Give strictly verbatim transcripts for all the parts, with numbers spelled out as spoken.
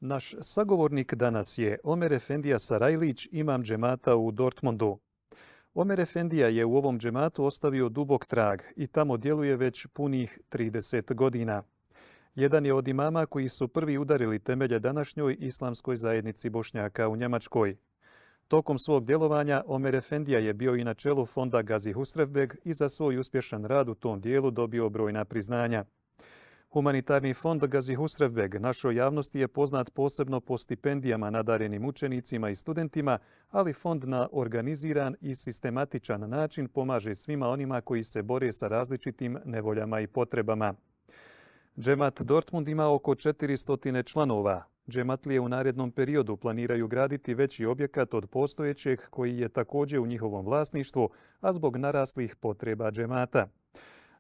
Naš sagovornik danas je Omer Efendija Sarajlić, imam džemata u Dortmundu. Omer Efendija je u ovom džematu ostavio dubok trag i tamo djeluje već punih trideset godina. Jedan je od imama koji su prvi udarili temelje današnjoj islamskoj zajednici Bošnjaka u Njemačkoj. Tokom svog djelovanja Omer Efendija je bio i na čelu fonda Gazi Husrevbeg i za svoj uspješan rad u tom dijelu dobio brojna priznanja. Humanitarni fond Gazi Husrevbeg našoj javnosti je poznat posebno po stipendijama nadarenim učenicima i studentima, ali fond na organiziran i sistematičan način pomaže svima onima koji se bore sa različitim nevoljama i potrebama. Džemat Dortmund ima oko četiristo članova. Džematlije u narednom periodu planiraju graditi veći objekat od postojećeg koji je također u njihovom vlasništvu, a zbog naraslih potreba džemata.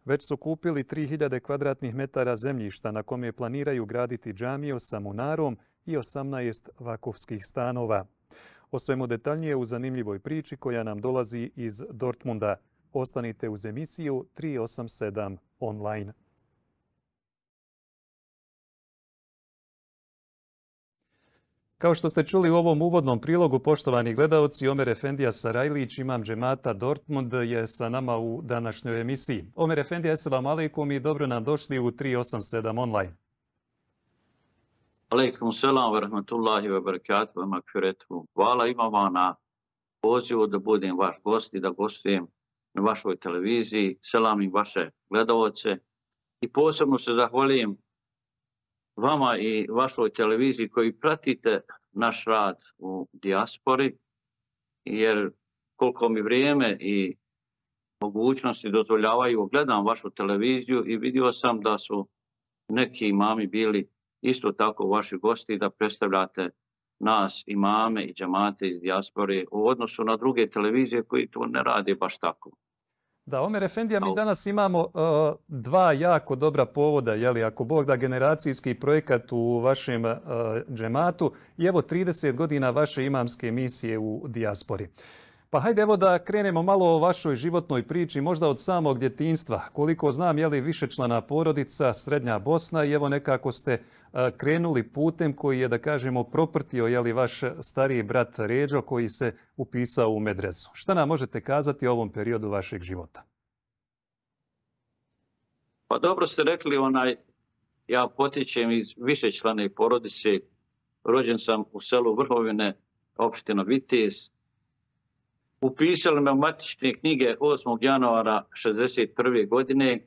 Već su kupili tri hiljade kvadratnih metara zemljišta na kome planiraju graditi džamiju sa munarom i osamnaest vakufskih stanova. O svemu detaljnije u zanimljivoj priči koja nam dolazi iz Dortmunda. Ostanite uz emisiju tri osam sedam online. Kao što ste čuli u ovom uvodnom prilogu, poštovani gledaoci, Omer Efendija Sarajlić, imam džemata Dortmund, je sa nama u današnjoj emisiji. Omer Efendija, eselamu alejkum i dobro nam došli u tri osam sedam online. Alejkum selam wa rahmatullahi wa barakatuh wa magfiratuh. Hvala imama na pozivu da budem vaš gost i da gostujem na vašoj televiziji. Selam i vaše gledaoce. I posebno se zahvaljujem vama i vašoj televiziji koji pratite naš rad u dijaspori, jer koliko mi vrijeme i mogućnosti dozvoljavaju, gledam vašu televiziju i vidio sam da su neki imami bili isto tako vaši gosti, da predstavljate nas, imame i džemate iz dijaspore u odnosu na druge televizije koji to ne rade baš tako. Da, Omer Efendija, mi danas imamo uh, dva jako dobra povoda, jeli, ako Bog da, generacijski projekat u vašem uh, džematu i evo trideset godina vaše imamske misije u dijaspori. Pa hajde evo da krenemo malo o vašoj životnoj priči, možda od samog djetinjstva. Koliko znam, je li višečlana porodica, Srednja Bosna i evo nekako ste uh, krenuli putem koji je, da kažemo, proprtio, je li, vaš stariji brat Ređo koji se upisao u medresu. Šta nam možete kazati o ovom periodu vašeg života? Pa dobro ste rekli, onaj, ja potičem iz višečlane porodice, rođen sam u selu Vrhovine, opština Vitez. Upisali me u matične knjige osmog januara šezdeset prve godine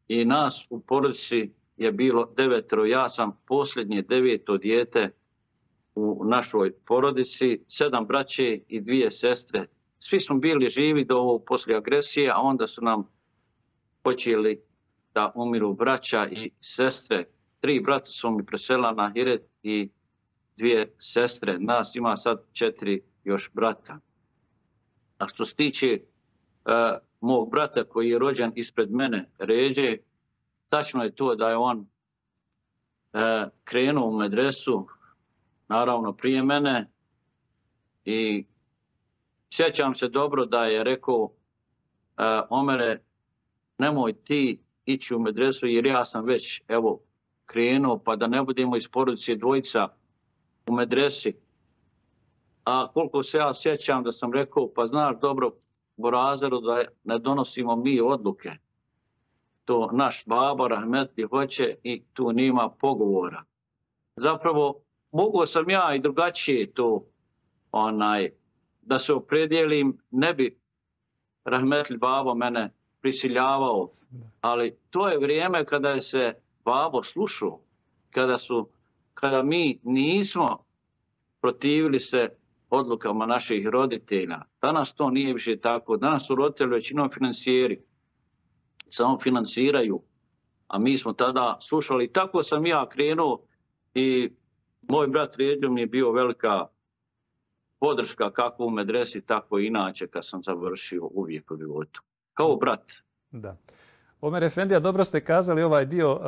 i nas u porodici je bilo devetero. Ja sam posljednje deveto dijete u našoj porodici, sedam braće i dvije sestre. Svi smo bili živi do ovog poslije agresije, a onda su nam počeli da umiru braća i sestre. Tri brata su mi preselila na Hiret i dvije sestre. Nas ima sad četiri još brata. A što se tiče uh, mog brata koji je rođen ispred mene, Ređe, tačno je to da je on uh, krenuo u medresu, naravno prije mene, i sjećam se dobro da je rekao uh, Omere, nemoj ti ići u medresu jer ja sam već evo krenuo, pa da ne budemo iz porodice dvojica u medresi. A koliko se ja sjećam da sam rekao, pa znaš dobro, Borazeru, da ne donosimo mi odluke. To naš baba rahmetli hoće i tu nima pogovora. Zapravo, mogu sam ja i drugačije to, onaj, da se opredijelim, ne bi rahmetli babo mene prisiljavao, ali to je vrijeme kada je se babo slušao, kada, su, kada mi nismo protivili se odlukama naših roditelja. Danas to nije više tako. Danas su roditelji većinom financijeri. Samo financiraju. A mi smo tada slušali. Tako sam ja krenuo i moj brat Ređo mi je bio velika podrška kako u medresi, tako i inače kad sam završio uvijek u životu. Kao brat. Da. Omer Efendija, dobro ste kazali ovaj dio.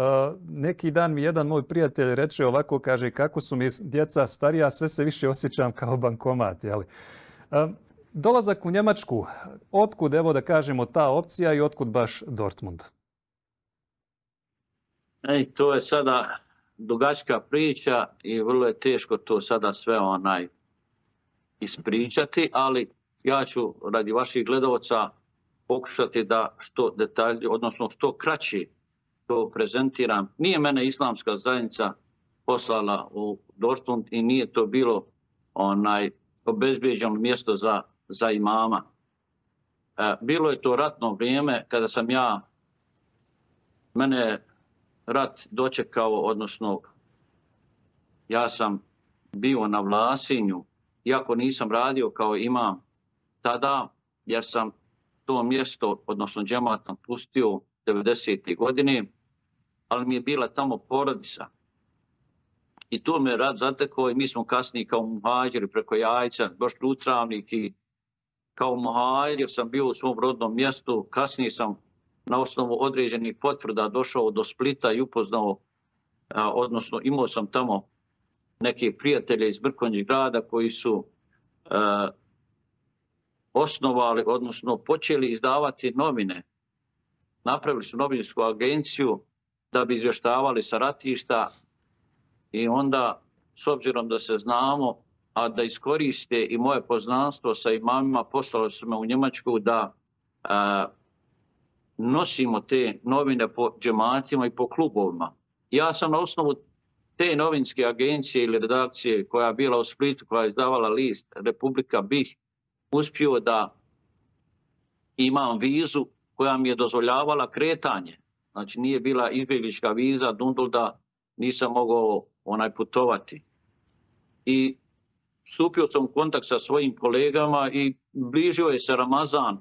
Neki dan mi jedan moj prijatelj reče ovako, kaže, kako su mi djeca starija, sve se više osjećam kao bankomat. Jeli? Dolazak u Njemačku, otkud, evo da kažemo, ta opcija i otkud baš Dortmund? Ej, to je sada dugačka priča i vrlo je teško to sada sve onaj ispričati, ali ja ću radi vaših gledalaca pokušati da što detalje, odnosno što kraći to prezentiram. Nije mene islamska zajednica poslala u Dortmund i nije to bilo onaj obezbeđeno mjesto za, za imama. E, bilo je to ratno vrijeme kada sam ja, mene rat dočekao, odnosno ja sam bio na Vlasinju, iako nisam radio kao imam tada, jer sam to mjesto, odnosno džemat napustio devedesete godine, ali mi je bila tamo porodica. I tu me rat zatekao i mi smo kasnije kao muhađiri preko Jajca, došli u Travnik i kao muhađir sam bio u svom rodnom mjestu. Kasnije sam na osnovu određenih potvrda došao do Splita i upoznao, a, odnosno imao sam tamo neke prijatelje iz Mrkonjić grada koji su a, osnovali, odnosno počeli izdavati novine. Napravili su novinsku agenciju da bi izvještavali sa ratišta i onda, s obzirom da se znamo, a da iskoriste i moje poznanstvo sa imamima, poslali su me u Njemačku da a, nosimo te novine po džematima i po klubovima. Ja sam na osnovu te novinske agencije ili redakcije koja je bila u Splitu, koja je izdavala list Republika B I H, uspio da imam vizu koja mi je dozvoljavala kretanje. Znači nije bila izbjeglička viza, dundul da nisam mogao onaj putovati. I stupio sam u kontakt sa svojim kolegama i bližio je se Ramazan,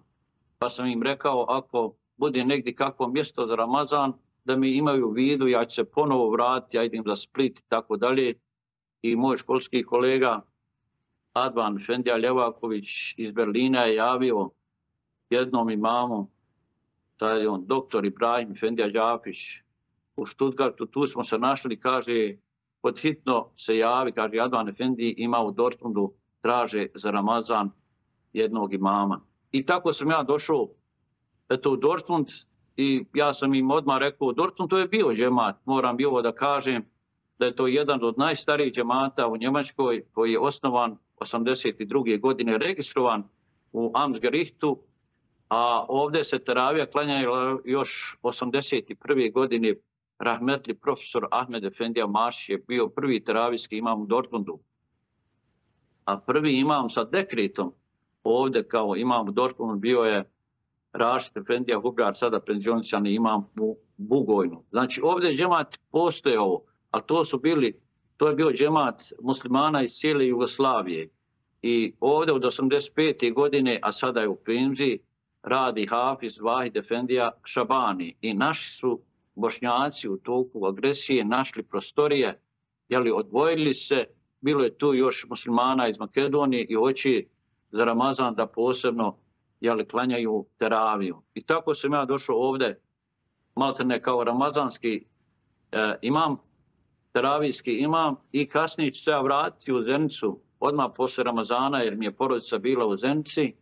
pa sam im rekao ako bude negdje kakvo mjesto za Ramazan, da mi imaju u vidu, ja ću se ponovo vratiti, ja idem za Split i tako dalje. I moj školski kolega Advan Efendija Ljevaković iz Berlina je javio jednom imamu, taj je on doktor Ibrahim Efendija Đapić u Stuttgartu, tu smo se našli, kaže, podhitno se javi, kaže, Advan Efendi ima u Dortmundu, traže za Ramazan jednog imama. I tako sam ja došao eto, u Dortmund i ja sam im odmah rekao, Dortmund to je bio džemat, moram bi ovo da kažem, da je to jedan od najstarijih džemata u Njemačkoj koji je osnovan osamdeset druge godine, registrovan u Amtsgerichtu, a ovdje se teravija klanjaju još osamdeset prve godine. Rahmetli profesor Ahmed Efendija Mašić je bio prvi teravijski imam u Dortmundu. A prvi imam sa dekretom ovdje kao imam u Dortmundu bio je Rašid Efendija Hugar, sada penzioničani imam u Bugojnu. Znači ovdje je džemat postojao, a to su bili, to je bio džemat muslimana iz cijele Jugoslavije. I ovdje od osamdeset pete godine, a sada je u penziji, radi Hafiz Vahid Efendija Šabani. I naši su Bošnjaci u toku agresije našli prostorije, jeli, odvojili se, bilo je tu još muslimana iz Makedonije i hoće za Ramazan da posebno jeli, klanjaju teraviju. I tako sam ja došao ovdje, maltene kao ramazanski e, imam, teravijski imam i kasnije ću se ja vratiti u Zenicu odmah posle Ramazana jer mi je porodica bila u Zenici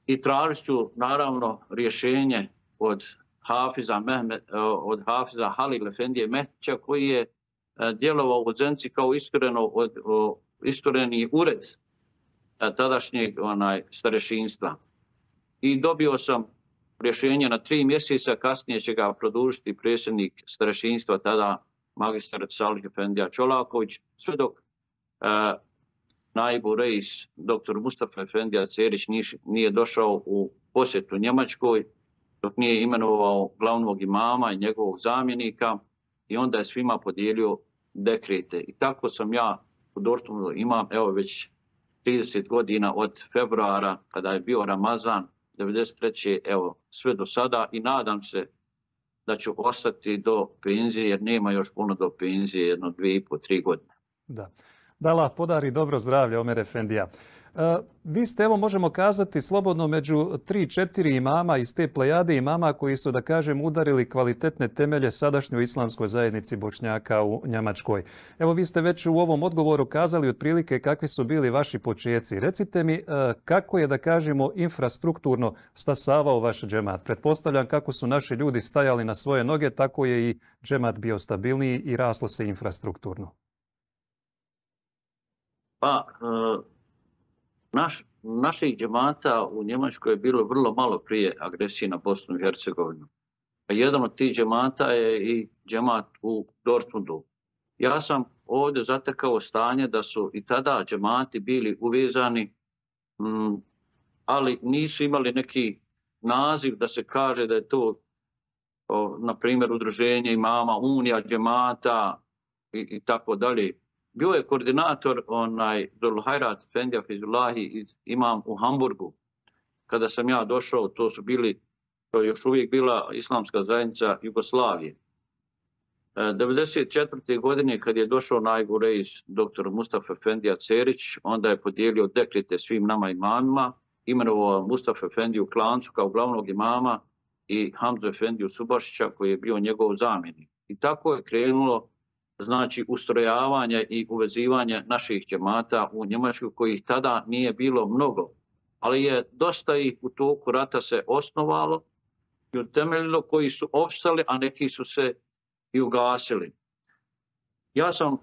i tražit ću naravno rješenje od Hafiza, Mehmed, od Hafiza Halil Efendije Mehtića koji je djelovao u Zenici kao istureno od, o, istureni ured tadašnjeg onaj, starešinstva. I dobio sam rješenje na tri mjeseca, kasnije će ga produžiti predsjednik starešinstva, tada magistar Salih Efendija Čolaković, sve dok e, Naibu Reis, doktor Mustafa Efendija Cerić nije došao u posjetu Njemačkoj, dok nije imenovao glavnog imama i njegovog zamjenika i onda je svima podijelio dekrete. I tako sam ja u Dortmundu imam evo već trideset godina od februara kada je bio Ramazan devedeset treće evo sve do sada i nadam se da ću ostati do penzije jer nema još puno do penzije, jedno dvije i po, tri godine. Da. Da Allah podari dobro zdravlje, Omer Efendija. Vi ste, evo možemo kazati, slobodno među tri, četiri imama iz te plejade imama koji su, da kažem, udarili kvalitetne temelje sadašnjoj islamskoj zajednici Bošnjaka u Njemačkoj. Evo, vi ste već u ovom odgovoru kazali otprilike kakvi su bili vaši počeci. Recite mi kako je, da kažemo, infrastrukturno stasavao vaš džemat. Pretpostavljam kako su naši ljudi stajali na svoje noge, tako je i džemat bio stabilniji i raslo se infrastrukturno. Pa, naš, naših džemata u Njemačkoj je bilo vrlo malo prije agresije na Bosnu i Hercegovinu. A jedan od tih džemata je i džemat u Dortmundu. Ja sam ovdje zatekao stanje da su i tada džemati bili uvezani, m, ali nisu imali neki naziv da se kaže da je to, o, na primjer, udruženje imama, unija džemata i, i tako dalje. Bio je koordinator onaj Zulhajrat Efendija Fizulahi, imam u Hamburgu. Kada sam ja došao, to su bili, to je još uvijek bila islamska zajednica Jugoslavije. devedeset četvrte godine kad je došao Najgu Reis doktor Mustafa Efendija Cerić, onda je podijelio dekrete svim nama imamima, imenovao Mustafa Efendiju Klancu kao glavnog imama i Hamzu Efendiju Subašića koji je bio njegov zamjenik. I tako je krenulo, znači, ustrojavanje i uvezivanje naših džemata u Njemačku, kojih tada nije bilo mnogo, ali je dosta ih u toku rata se osnovalo i utemeljilo, koji su opstali, a neki su se i ugasili. Ja sam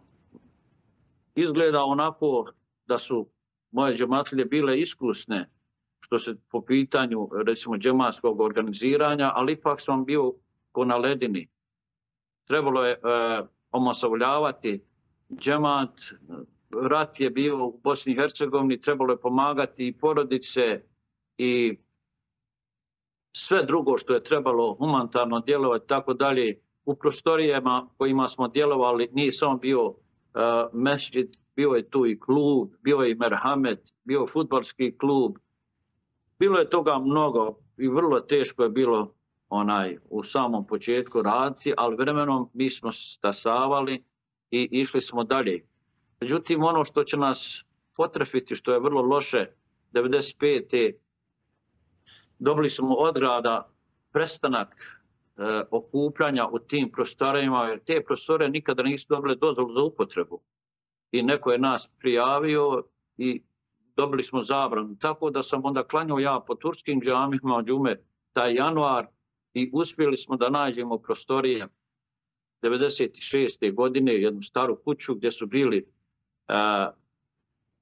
izgledao onako da su moje džematlije bile iskusne što se po pitanju, recimo, džematskog organiziranja, ali ipak sam bio ko na ledini. Trebalo je e, omasovljavati džemat, rat je bio u Bosni i Hercegovini, trebalo je pomagati i porodice i sve drugo što je trebalo humanitarno djelovati, tako dalje. U prostorijama kojima smo djelovali nije samo bio uh, mesdžid, bio je tu i klub, bio je i merhamet, bio je fudbalski klub. Bilo je toga mnogo i vrlo teško je bilo onaj u samom početku raditi, ali vremenom mi smo stasavali i išli smo dalje. Međutim, ono što će nas potrefiti, što je vrlo loše, devedeset pete dobili smo od grada prestanak e, okupljanja u tim prostorima, jer te prostore nikada nisu dobile dozvolu za upotrebu. I neko je nas prijavio i dobili smo zabranu. Tako da sam onda klanjao ja po turskim džamijama džume taj januar i uspjeli smo da nađemo prostorije devedeset šeste godine, jednu staru kuću gdje su bili, uh,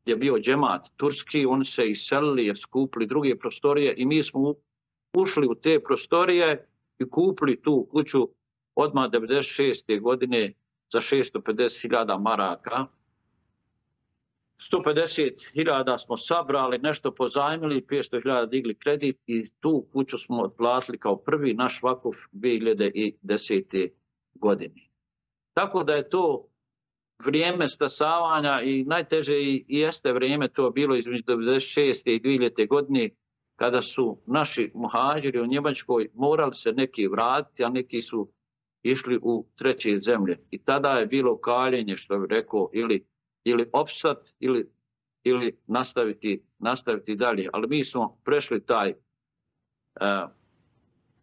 gdje je bio džemat turski, oni se iselili jer su kupili druge prostorije i mi smo ušli u te prostorije i kupili tu kuću odmah devedeset šeste godine za šesto pedeset hiljada maraka. sto pedeset hiljada smo sabrali, nešto pozajmili, petsto hiljada digli kredit i tu kuću smo otplatili kao prvi naš vakuf dvije hiljade desete. godine. Tako da je to vrijeme stasavanja i najteže i jeste vrijeme to bilo između devedeset šeste i dvije hiljade. godine kada su naši muhađiri u Njemačkoj morali se neki vratiti, a neki su išli u treće zemlje. I tada je bilo kaljenje, što bih rekao, ili ili opstat ili, ili nastaviti, nastaviti dalje. Ali mi smo prešli taj uh,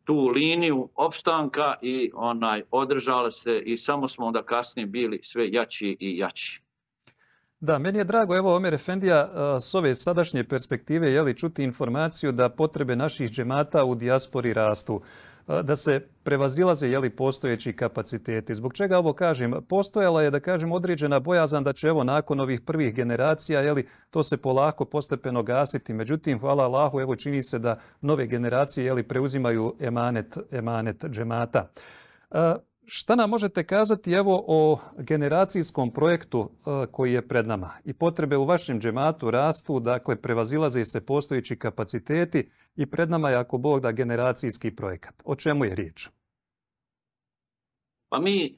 tu liniju opstanka i onaj održali se i samo smo onda kasnije bili sve jači i jači. Da, meni je drago, evo Omer Efendija, s ove sadašnje perspektive jeli, čuti informaciju da potrebe naših džemata u dijaspori rastu, da se prevazilaze jeli, postojeći kapaciteti. Zbog čega ovo kažem? Postojala je, da kažem, određena bojazan da će evo nakon ovih prvih generacija jeli, to se polako postepeno gasiti. Međutim, hvala Allahu, evo čini se da nove generacije jeli, preuzimaju emanet, emanet džemata. E, šta nam možete kazati evo o generacijskom projektu e, koji je pred nama? I potrebe u vašem džematu rastu, dakle prevazilaze se postojeći kapaciteti i pred nama je, ako Bog da, generacijski projekat. O čemu je riječ? Pa mi,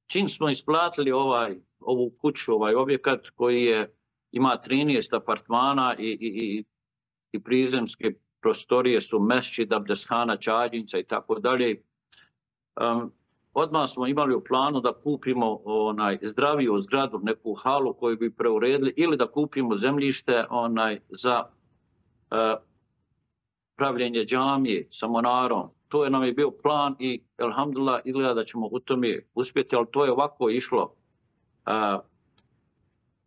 čim smo isplatili ovaj, ovu kuću, ovaj objekat koji je, ima trinaest apartmana i, i, i, i prizemske prostorije su mesdžid, abdesthana, čađinca i tako dalje. Um, odmah smo imali u planu da kupimo onaj zdraviju zgradu, neku halu koju bi preuredili ili da kupimo zemljište onaj za e, pravljenje džamije sa monarom. To je nam je bio plan i elhamdulillah izgleda da ćemo u tome uspjeti, ali to je ovako išlo. E,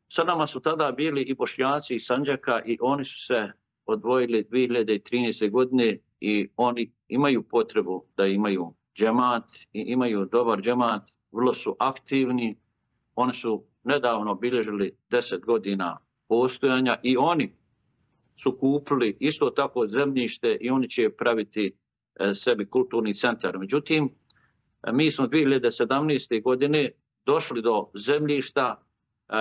sa nama su tada bili i Bošnjaci iz Sandžaka i oni su se odvojili dvije hiljade trinaeste. godine i oni imaju potrebu da imaju džemat i imaju dobar džemat, vrlo su aktivni. Oni su nedavno bilježili deset godina postojanja i oni su kupili isto tako zemljište i oni će praviti e, sebi kulturni centar. Međutim, mi smo dvije hiljade sedamnaeste. godine došli do zemljišta e,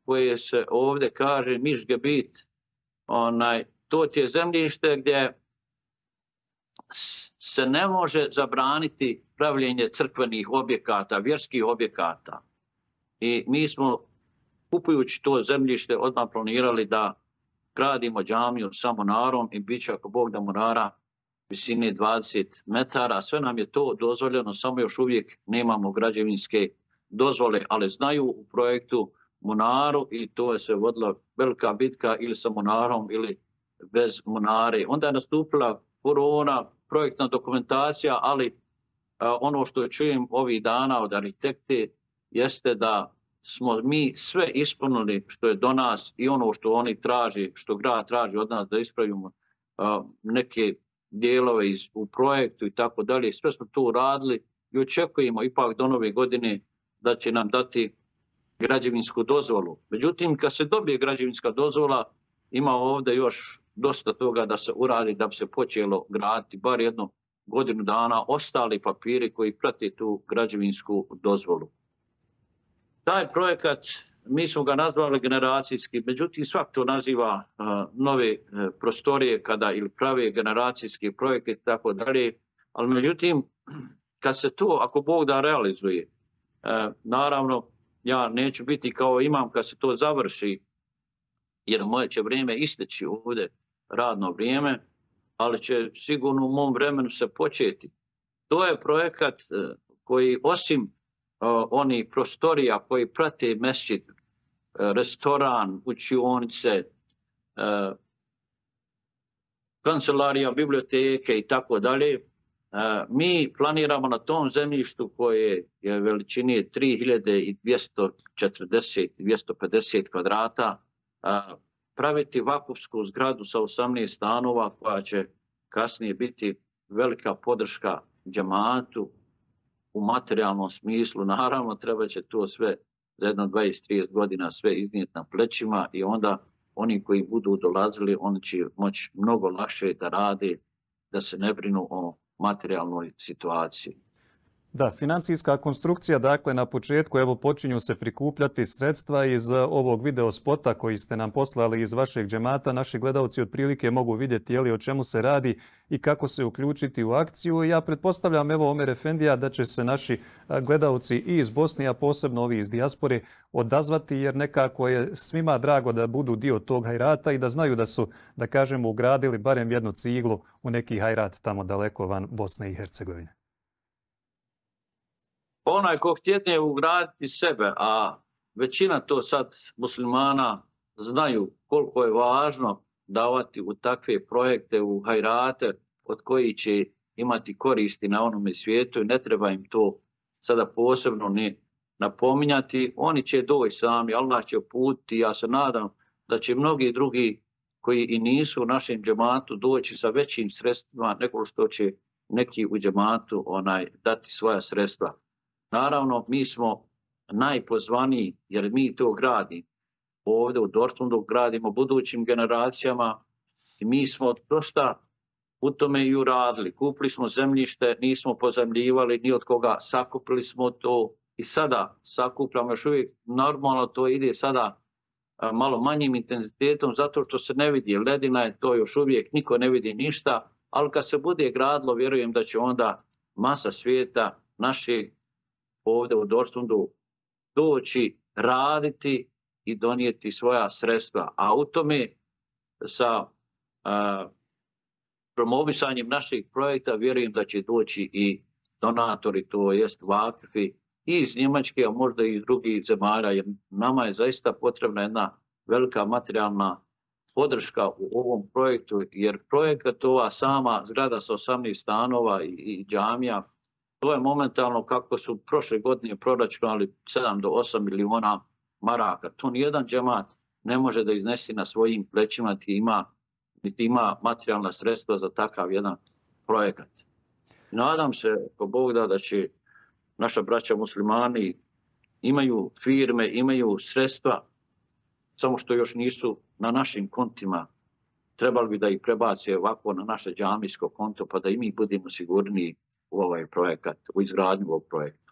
koje se ovdje kaže Mišgebit. Onaj, to je zemljište gdje se ne može zabraniti pravljenje crkvenih objekata, vjerskih objekata. I mi smo, kupujući to zemljište, odmah planirali da gradimo džamiju sa monarom i bit će, ako Bog da, monara visine dvadeset metara. Sve nam je to dozvoljeno, samo još uvijek nemamo građevinske dozvole, ali znaju u projektu monaru i to je se vodila velika bitka ili sa monarom ili bez monare. Onda je nastupila korona, projektna dokumentacija, ali a, ono što čujem ovih dana od arhitekte jeste da smo mi sve ispunili što je do nas i ono što oni traži, što grad traži od nas da ispravimo a, neke dijelove iz, u projektu i tako dalje. Sve smo to uradili i očekujemo ipak do nove godine da će nam dati građevinsku dozvolu. Međutim, kad se dobije građevinska dozvola, ima ovdje još dosta toga da se uradi da bi se počelo graditi, bar jednu godinu dana, ostali papiri koji prate tu građevinsku dozvolu. Taj projekat, mi smo ga nazvali generacijski, međutim svak to naziva uh, nove uh, prostorije kada ili prave generacijski projekte i tako dalje, ali međutim, kad se to, ako Bog da, realizuje, uh, naravno, ja neću biti kao imam kad se to završi, jer moje će vrijeme isteći ovdje, radno vrijeme, ali će sigurno u mom vremenu se početi. To je projekat koji osim uh, onih prostorija koji prate mesdžid, uh, restoran, učionice, uh, kancelarija, biblioteke i tako dalje, mi planiramo na tom zemljištu koje je veličine tri hiljade dvjesto četrdeset do dvjesto pedeset kvadrata uh, praviti vakufsku zgradu sa osamnaest stanova koja će kasnije biti velika podrška džematu u materijalnom smislu. Naravno, treba će to sve za jedno dvadeset do trideset godina sve iznijeti na plećima i onda oni koji budu dolazili, oni će moći mnogo lakše da rade, da se ne brinu o materijalnoj situaciji. Da, financijska konstrukcija, dakle, na početku evo počinju se prikupljati sredstva iz ovog video spota koji ste nam poslali iz vašeg džemata. Naši gledalci otprilike mogu vidjeti je li o čemu se radi i kako se uključiti u akciju. Ja pretpostavljam, evo, Omer Efendija, da će se naši gledalci i iz Bosne, a posebno ovi iz dijaspore, odazvati, jer nekako je svima drago da budu dio tog hajrata i da znaju da su, da kažemo, ugradili barem jednu ciglu u neki hajrat tamo daleko van Bosne i Hercegovine. Onaj ko htjetne ugraditi sebe, a većina to sad muslimana znaju koliko je važno davati u takve projekte, u hajrate, od koji će imati koristi na onome svijetu i ne treba im to sada posebno ne napominjati. Oni će doći sami, Allah će uputiti. Ja se nadam da će mnogi drugi koji i nisu u našem džematu doći sa većim sredstvima nego što će neki u džematu onaj, dati svoja sredstva. Naravno, mi smo najpozvaniji jer mi to gradimo. Ovdje u Dortmundu gradimo budućim generacijama i mi smo dosta u tome i uradili. Kupili smo zemljište, nismo pozemljivali ni od koga, sakupili smo to i sada sakupljamo još uvijek. Normalno to ide sada a, malo manjim intenzitetom zato što se ne vidi. Ledina je to još uvijek, niko ne vidi ništa, ali kad se bude gradilo, vjerujem da će onda masa svijeta našeg ovdje u Dortmundu doći, raditi i donijeti svoja sredstva. A u tome sa a, promovisanjem naših projekta vjerujem da će doći i donatori, to jest vakfi i iz Njemačke, a možda i iz drugih zemalja, jer nama je zaista potrebna jedna velika materijalna podrška u ovom projektu, jer projekat ova sama zgrada sa osamnaest stanova i, i džamija, to je momentalno kako su prošle godine proračunali sedam do osam miliona maraka. To nijedan džemat ne može da iznesi na svojim plećima, niti ima, niti ima materijalna sredstva za takav jedan projekat. Nadam se, ko Bog da, da će naša braća muslimani imaju firme, imaju sredstva, samo što još nisu na našim kontima. Trebali bi da ih prebace ovako na naše džamijsko konto, pa da i mi budemo sigurniji u ovaj projekat, u izgradnju ovog projekta.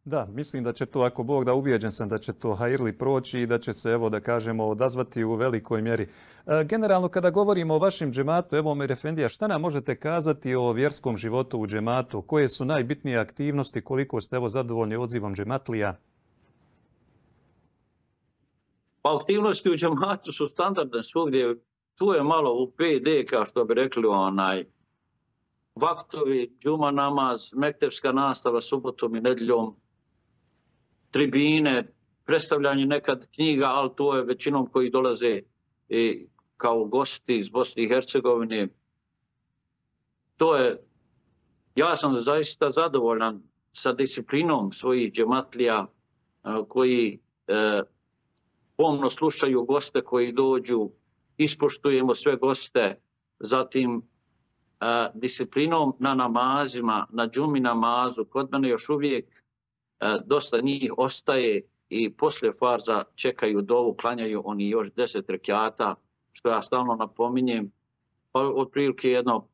Da, mislim da će to, ako Bog da, ubijeđen sam da će to hajrli proći i da će se, evo da kažemo, odazvati u velikoj mjeri. E, generalno, kada govorimo o vašem džematu, evo Omer Efendija, šta nam možete kazati o vjerskom životu u džematu? Koje su najbitnije aktivnosti, koliko ste evo zadovoljni odzivom džematlija? Pa aktivnosti u džematu su standardne svugdje. Tu je malo u P D, kao što bi rekli, onaj vaktovi, džuma namaz, mektepska nastava subotom i nedjeljom, tribine, predstavljanje nekad knjiga, ali to je većinom koji dolaze i kao gosti iz Bosne i Hercegovine. To je, ja sam zaista zadovoljan sa disciplinom svojih džematlija koji e, pomno slušaju goste koji dođu, ispoštujemo sve goste, zatim e, disciplinom na namazima, na džumi namazu. Kod mene još uvijek e, dosta njih ostaje i poslije farza čekaju dovu, klanjaju oni još deset rekjata, što ja stalno napominjem. Pa otprilike jedno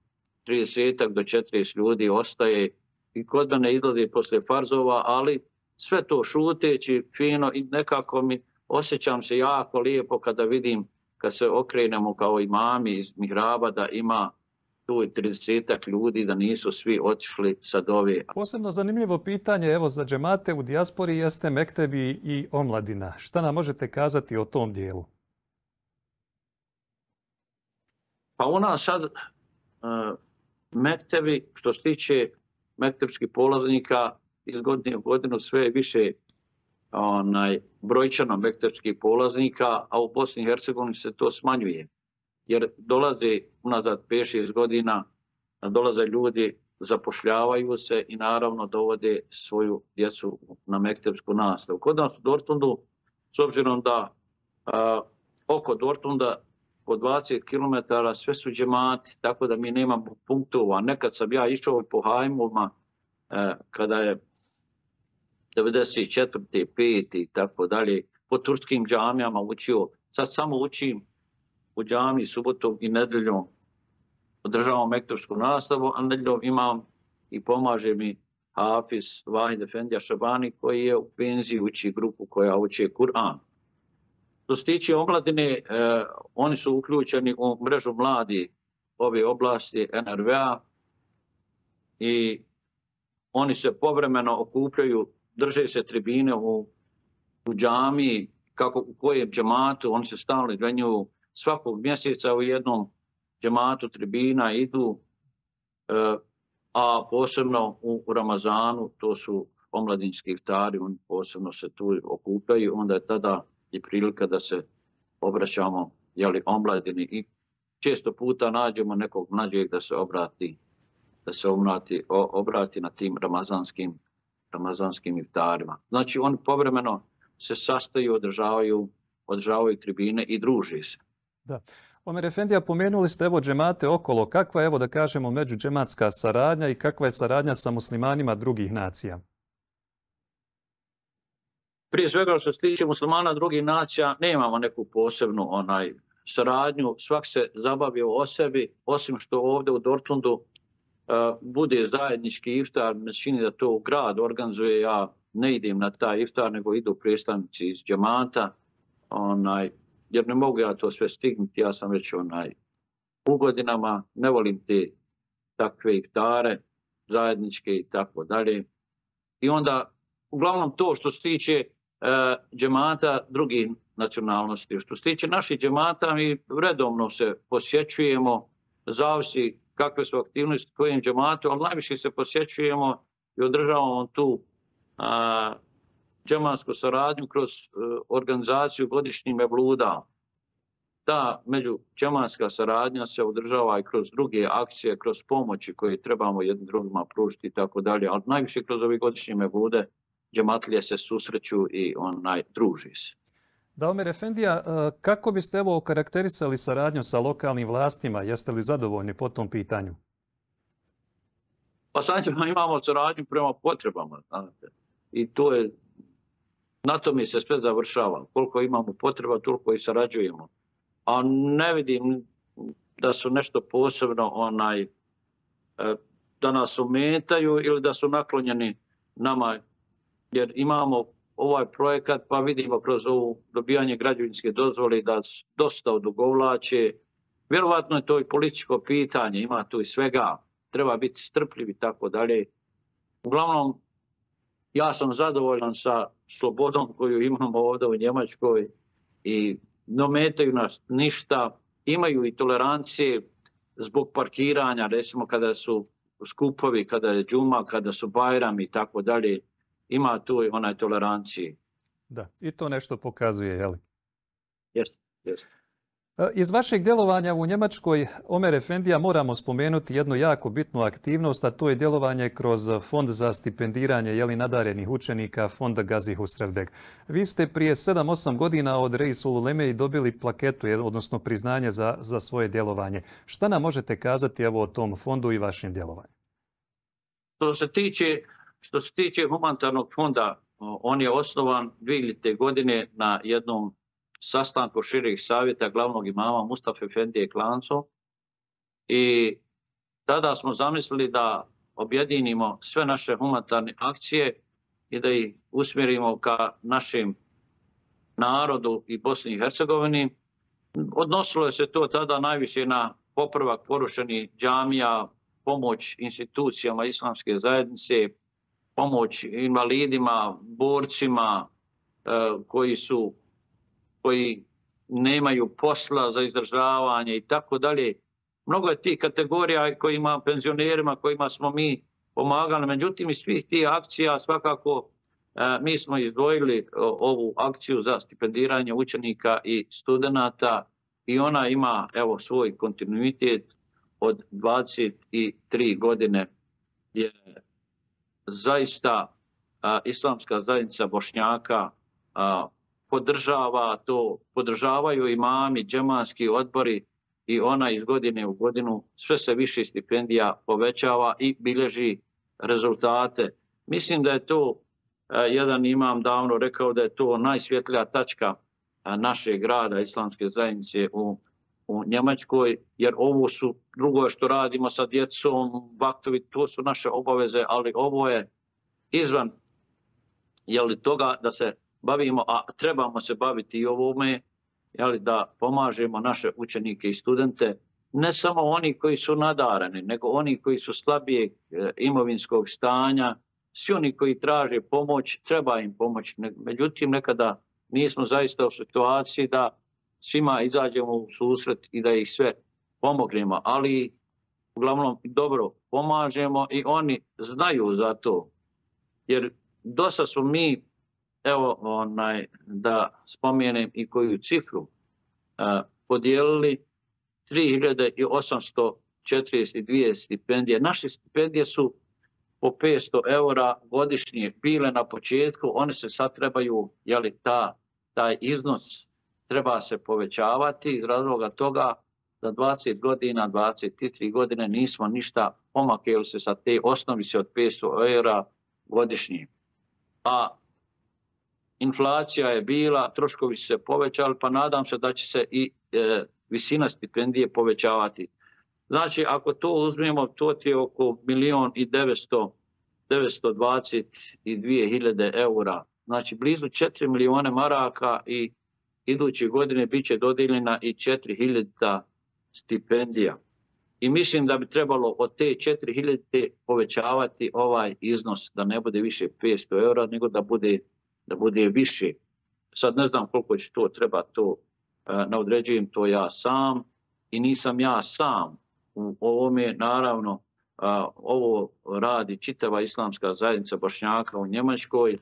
trideset do četrdeset ljudi ostaje i kod mene izlazi poslije farzova, ali sve to šuteći, fino i nekako mi osjećam se jako lijepo kada vidim, kad se okrenemo kao imami iz mihraba, da ima tu trideset ljudi, da nisu svi otišli sa dove. Posebno zanimljivo pitanje, evo, za džemate u dijaspori jeste mektebi i omladina. Šta nam možete kazati o tom dijelu? Pa u nas sad uh, mektebi, što se tiče mektepskih polaznika, iz godine u godinu sve je više onaj, brojčano mektepskih polaznika, a u Bosni i Hercegovini se to smanjuje. Jer dolaze unazad pet šest godina, dolaze ljudi, zapošljavaju se i naravno dovode svoju djecu na mektepsku nastavu. Kod nas u Dortmundu, s obzirom da a, oko Dortmunda po dvadeset kilometara sve su džemati, tako da mi nemamo punktova. Nekad sam ja išao po hajmovima a, kada je devedeset četvrte pete i tako dalje, po turskim džamijama učio. Sad samo učim u džamiji subotom i nedeljom, održavam mektepsku nastavu, a nedeljom imam i pomaže mi Hafiz Vahid Efendija Šabani koji je u penziji, uči grupu koja uči Kur'an. Što se tiče omladine, eh, oni su uključeni u mrežu mladi ove oblasti N R V A i oni se povremeno okupljaju, drže se tribine u, u džamiji, kako u kojem džematu, oni se stalno izvenjuju svakog mjeseca u jednom džematu tribina idu, eh, a posebno u, u Ramazanu, to su omladinski iftari, oni posebno se tu okupljaju, onda je tada i prilika da se obraćamo jeli, omladini i često puta nađemo nekog mlađeg da se obrati, da se obrati, o, obrati na tim ramazanskim, ramazanskim iftarima. Znači oni povremeno se sastaju, održavaju, održavaju tribine i druži se. Da. Omer Efendija, pomenuli ste evo džemate okolo. Kakva je, evo da kažemo, međudžematska saradnja i kakva je saradnja sa muslimanima drugih nacija? Prije svega što se tiče muslimana drugih nacija, nemamo neku posebnu onaj saradnju. Svak se zabavio o sebi, osim što ovdje u Dortmundu uh, bude zajednički iftar. Me čini da to grad organizuje, ja ne idem na taj iftar, nego idu predstavnici iz džemata. Onaj, jer ne mogu ja to sve stignuti, ja sam već onaj u godinama, ne volim te takve iftare, zajedničke i tako dalje. I onda, uglavnom to što se tiče uh, džemata drugih nacionalnosti, što se tiče naših džemata, mi redovno se posjećujemo, zavisi kakve su aktivnosti kojim džematu, ali najviše se posjećujemo i održavamo tu a, džematsku saradnju kroz a, organizaciju godišnjih mevluda. Ta međudžematska saradnja se održava i kroz druge akcije, kroz pomoći koje trebamo jednim drugima pružiti i tako dalje, ali najviše kroz ove godišnje mevlude džematlije se susreću i onaj druži se. Da, Omer Efendija, kako biste evo okarakterisali saradnju sa lokalnim vlastima? Jeste li zadovoljni po tom pitanju? Pa sad imamo saradnju prema potrebama. Znate. I to je, na to mi se sve završava. Koliko imamo potreba, toliko i sarađujemo. A ne vidim da su nešto posebno onaj, da nas ometaju ili da su naklonjeni nama. Jer imamo ovaj projekat, pa vidimo kroz ovo dobijanje građevinske dozvole da dosta odugovlače. Vjerovatno je to i političko pitanje, ima tu i svega. Treba biti strpljiv i tako dalje. Uglavnom, ja sam zadovoljan sa slobodom koju imamo ovdje u Njemačkoj i ne ometaju nas ništa. Imaju i tolerancije zbog parkiranja, recimo kada su skupovi, kada je džuma, kada su bajrami i tako dalje. Ima tu i onaj tolerancije. Da, i to nešto pokazuje, je li? Jeste, jeste. Iz vašeg djelovanja u Njemačkoj, Omer Efendija, moramo spomenuti jednu jako bitnu aktivnost, a to je djelovanje kroz Fond za stipendiranje jeli, nadarenih učenika, Fond Gazi Husrevdeg. Vi ste prije sedam osam godina od Reisul Uleme dobili plaketu, odnosno priznanje za, za svoje djelovanje. Šta nam možete kazati evo, o tom fondu i vašem djelovanju? Što se tiče, što se tiče humanitarnog fonda, on je osnovan dvije hiljadite godine na jednom sastanku širih savjeta glavnog imama Mustafa Efendije Klanco i tada smo zamislili da objedinimo sve naše humanitarne akcije i da ih usmjerimo ka našem narodu i Bosni i Hercegovini. Odnosilo se to tada najviše na popravak porušenih džamija, pomoć institucijama islamske zajednice, pomoć invalidima, borcima koji su koji nemaju posla za izdržavanje i tako dalje. Mnogo je tih kategorija kojima, penzionerima kojima smo mi pomagali. Međutim, iz svih tih akcija svakako mi smo izdvojili ovu akciju za stipendiranje učenika i studenata i ona ima evo svoj kontinuitet od dvadeset tri godine je zaista a, islamska zajednica Bošnjaka a, podržava to, podržavaju imami, džemanski odbori i ona iz godine u godinu sve se više stipendija povećava i bilježi rezultate. Mislim da je to, jedan imam davno rekao da je to najsvjetlija tačka našeg grada islamske zajednice u, u Njemačkoj, jer ovo su drugo što radimo sa djecom, vaktovi, to su naše obaveze, ali ovo je izvan jeli, toga da se bavimo, a trebamo se baviti i ovome, jeli, da pomažemo naše učenike i studente, ne samo oni koji su nadarani, nego oni koji su slabijeg imovinskog stanja, svi oni koji traže pomoć, treba im pomoć. Međutim, nekada nismo zaista u situaciji da svima izađemo u susret i da ih sve pomognemo, ali uglavnom dobro pomažemo i oni znaju za to. Jer dosta smo mi, evo onaj, da spomenem i koju cifru, a, podijelili tri hiljade osamsto četrdeset dvije stipendije. Naše stipendije su po petsto eura godišnje bile na početku, one se sad trebaju, jeli, ta, taj iznos treba se povećavati iz razloga toga da dvadeset godina, dvadeset tri godine nismo ništa pomakli se sa te osnovi se od petsto eura godišnje. A inflacija je bila, troškovi su se povećali, pa nadam se da će se i e, visina stipendije povećavati. Znači, ako to uzmemo, to je oko milion i devetsto dvadeset dvije hiljade eura. Znači, blizu četiri milijone maraka i iduće godine bit će dodijeljena i četiri hiljade stipendija. I mislim da bi trebalo od te četiri hiljade povećavati ovaj iznos, da ne bude više petsto eura, nego da bude, da bude više. Sad ne znam koliko će to treba, to ne određujem to ja sam i nisam ja sam u ovome, naravno, ovo radi čitava islamska zajednica Bošnjaka u Njemačkoj,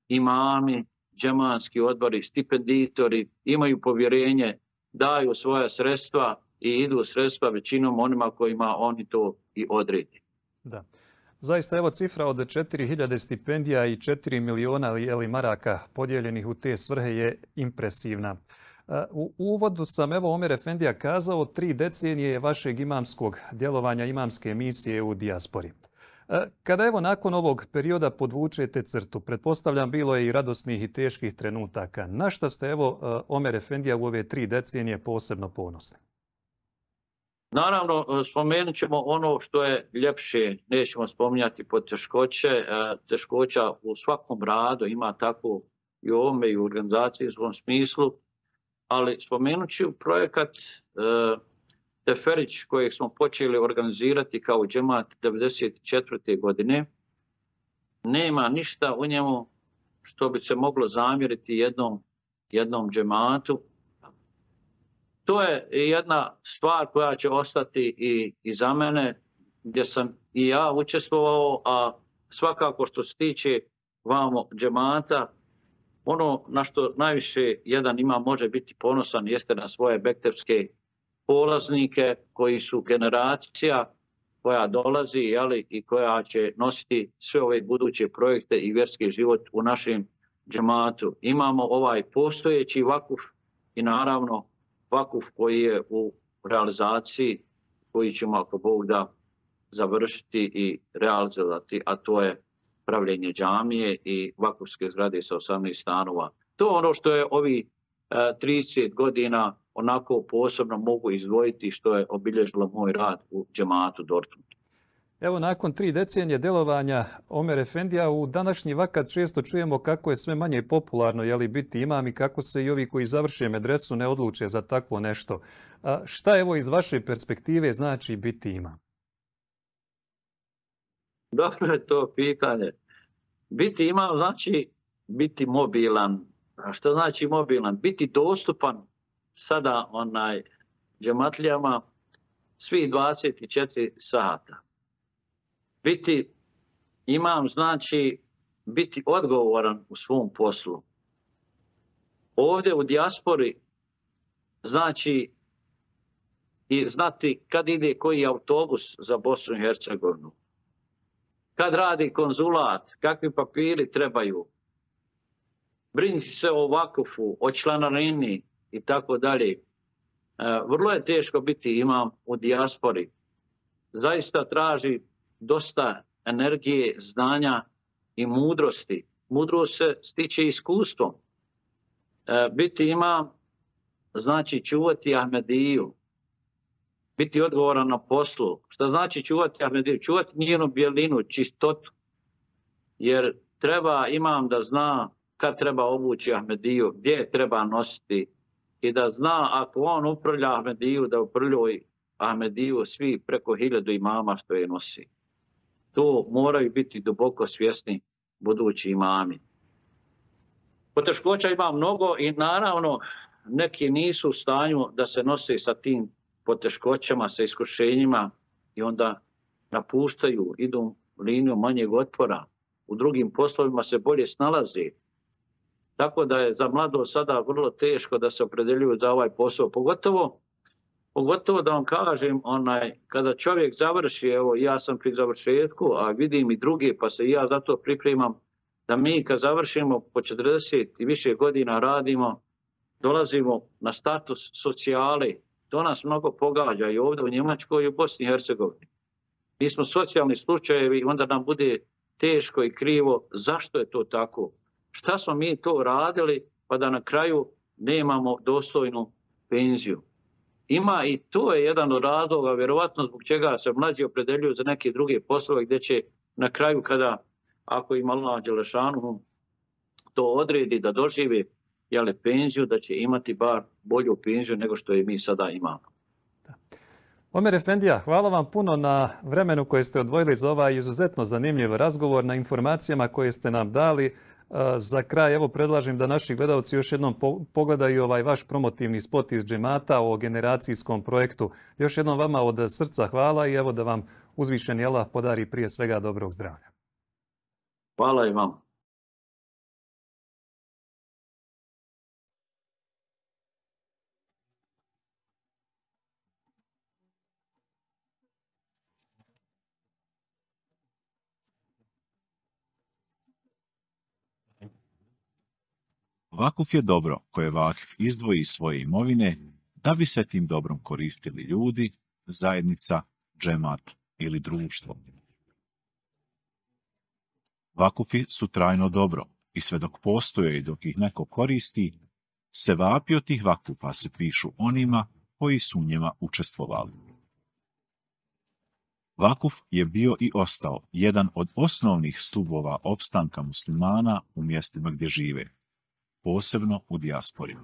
imami, džemanski odbori, stipenditori imaju povjerenje, daju svoja sredstva i idu sredstva većinom onima kojima oni to i odredi. Da. Zaista, evo cifra od četiri hiljade stipendija i četiri miliona maraka podijeljenih u te svrhe je impresivna. U uvodu sam, evo, Omer Efendija kazao, tri decenije vašeg imamskog djelovanja, imamske misije u dijaspori. Kada evo nakon ovog perioda podvučete crtu, pretpostavljam bilo je i radosnih i teških trenutaka. Na šta ste, evo, Omer Efendija u ove tri decenije posebno ponosni? Naravno, spomenut ćemo ono što je ljepše, nećemo spominjati poteškoće. Teškoća u svakom radu ima tako i u ovome i u organizacijskom smislu, ali spomenut ću projekat Teferić kojeg smo počeli organizirati kao džemat devedeset četvrte godine. Nema ništa u njemu što bi se moglo zamjeriti jednom, jednom džematu. To je jedna stvar koja će ostati i, i za mene, gdje sam i ja učestvovao, a svakako što se tiče vamo džemata, ono na što najviše jedan ima može biti ponosan jeste na svoje bektepske polaznike koji su generacija koja dolazi, jeli, i koja će nositi sve ove buduće projekte i vjerski život u našem džematu. Imamo ovaj postojeći vakuf i naravno vakuf koji je u realizaciji, koji ćemo, ako Bog da, završiti i realizovati, a to je pravljenje džamije i vakufske zgrade sa osamnaest stanova. To je ono što je ovi trideset godina onako posebno mogu izdvojiti što je obilježilo moj rad u džematu Dortmundu. Evo, nakon tri decenije delovanja Omer Efendija, u današnji vakat često čujemo kako je sve manje popularno, jeli, biti imam i kako se i ovi koji završe medresu ne odluče za takvo nešto. A šta evo iz vaše perspektive znači biti imam? Dobro je to pitanje. Biti imam znači biti mobilan. A što znači mobilan? Biti dostupan sada onaj džematlijama svih dvadeset četiri sata. Biti imam znači biti odgovoran u svom poslu. Ovdje u dijaspori znači i znati kad ide koji autobus za Bosnu i Hercegovinu, kad radi konzulat, kakvi papiri trebaju, brinuti se o vakufu, o članarini i tako dalje. Vrlo je teško biti imam u dijaspori. Zaista traži dosta energije, znanja i mudrosti. Mudrost se stiče iskustvom. Biti imam znači čuvati Ahmediju, biti odgovoran na poslu. Šta znači čuvati Ahmediju? Čuvati njenu bjelinu, čistotu. Jer treba imam da zna kad treba obući Ahmediju, gdje treba nositi i da zna ako on upravlja Ahmediju, da upravljaju Ahmediju svi preko hiljadu imama što je nosi. To moraju biti duboko svjesni budući imami. Poteškoća ima mnogo i naravno neki nisu u stanju da se nose sa tim poteškoćama, sa iskušenjima i onda napuštaju, idu linijom manjeg otpora. U drugim poslovima se bolje snalaze. Tako da je za mlado sada vrlo teško da se opredeljuju za ovaj posao. Pogotovo, pogotovo da vam kažem, onaj, kada čovjek završi, evo ja sam pri završetku, a vidim i druge, pa se i ja zato pripremam, da mi kad završimo po četrdeset i više godina radimo, dolazimo na status socijale. To nas mnogo pogađa i ovdje u Njemačkoj i u Bosni i Hercegovini. Mi smo socijalni slučajevi i onda nam bude teško i krivo zašto je to tako. Šta smo mi to radili pa da na kraju nemamo dostojnu penziju. Ima i to je jedan od razloga, vjerovatno zbog čega se mlađi opredeljuju za neke druge poslove gdje će na kraju kada, ako ima Allah dželešanu to odredi da doživi jeli, penziju, da će imati bar bolju penziju nego što je mi sada imamo. Da. Omer Efendija, hvala vam puno na vremenu koje ste odvojili za ovaj izuzetno zanimljiv razgovor, na informacijama koje ste nam dali. Za kraj, evo, predlažem da naši gledalci još jednom pogledaju ovaj vaš promotivni spot iz džemata o generacijskom projektu. Još jednom vama od srca hvala i evo da vam Uzvišeni Allah podari prije svega dobrog zdravlja. Hvala i vam. Vakuf je dobro koje vakif izdvoji iz svoje imovine da bi se tim dobrom koristili ljudi, zajednica, džemat ili društvo. Vakufi su trajno dobro i sve dok postoje i dok ih neko koristi, se vapi od tih vakufa se pišu onima koji su u njima učestvovali. Vakuf je bio i ostao jedan od osnovnih stubova opstanka muslimana u mjestima gdje žive, posebno u dijaspori.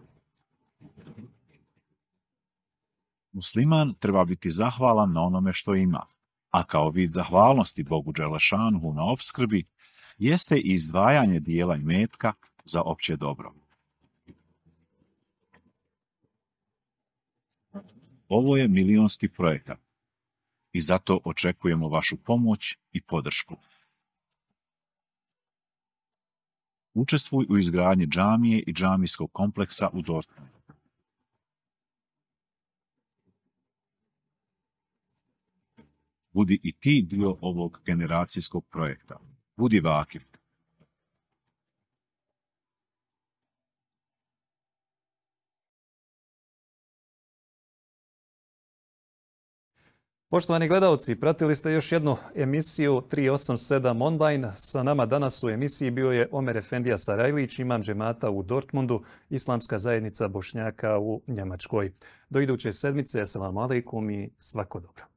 Musliman treba biti zahvalan na onome što ima, a kao vid zahvalnosti Bogu Đelešanuhu na opskrbi jeste i izdvajanje dijela imetka za opće dobro. Ovo je milionski projekat i zato očekujemo vašu pomoć i podršku. Učestvuj u izgradnji džamije i džamijskog kompleksa u Dortmundu. Budi i ti dio ovog generacijskog projekta. Budi vakif. Poštovani gledalci, pratili ste još jednu emisiju tri osam sedam online. Sa nama danas u emisiji bio je Omer Efendija Sarajlić, imam džemata u Dortmundu, Islamska zajednica Bošnjaka u Njemačkoj. Do iduće sedmice, assalamu alaikum i svako dobro.